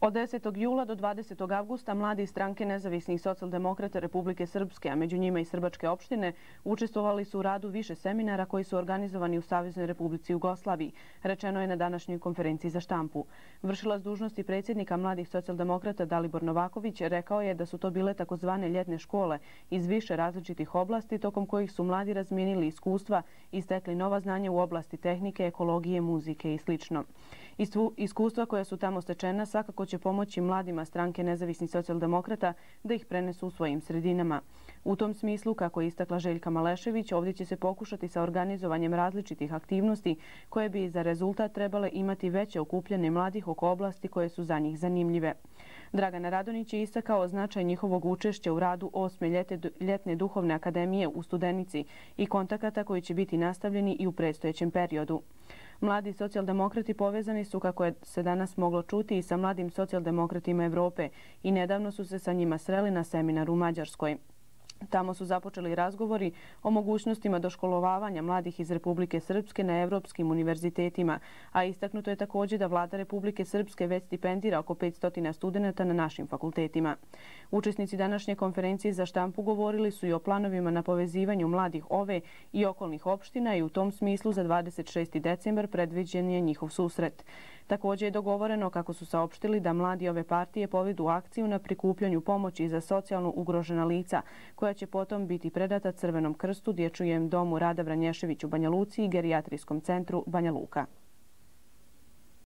Od 10. jula do 20. avgusta mladi iz stranke nezavisnih socijaldemokrata Republike Srpske, a među njima i Srbačke opštine, učestvovali su u radu više seminara koji su organizovani u Saveznoj Republici Jugoslaviji, rečeno je na današnjoj konferenciji za štampu. Vršilac dužnosti predsjednika mladih socijaldemokrata Dalibor Novaković rekao je da su to bile takozvane ljetne škole iz više različitih oblasti, tokom kojih su mladi razmijenili iskustva i stekli nova znanja u oblasti tehnike, ekologije, muzike i sl. Iskustva koja su tamo stečena svakako će pomoći mladima stranke nezavisnih socijaldemokrata da ih prenesu u svojim sredinama. U tom smislu, kako je istakla Željka Malešević, ovdje će se pokušati sa organizovanjem različitih aktivnosti koje bi za rezultat trebale imati veće okupljanje mladih oko oblasti koje su za njih zanimljive. Dragana Radonjić je istakao značaj njihovog učešća u radu 8. ljetne duhovne akademije u Studenici i kontakata koji će biti nastavljeni i u predstojećem periodu. Mladi socijaldemokrati povezani su, kako je se danas moglo čuti, i sa mladim socijaldemokratima Evrope i nedavno su se sa njima sreli na seminaru u Mađarskoj. Tamo su započeli razgovori o mogućnostima doškolovavanja mladih iz Republike Srpske na evropskim univerzitetima, a istaknuto je također da vlada Republike Srpske već stipendira oko 500 studenta na našim fakultetima. Učesnici današnje konferencije za štampu govorili su i o planovima na povezivanju mladih ove i okolnih opština i u tom smislu za 26. decembar predviđen je njihov susret. Također je dogovoreno, kako su saopštili, da mladi ove partije povedu akciju na prikupljanju pomoći za socijalno ugrožena lica, koja će potom biti predata Crvenom krstu, Dječjem domu Rada Vranješević u Banja Luci i Gerijatrijskom centru Banja Luka.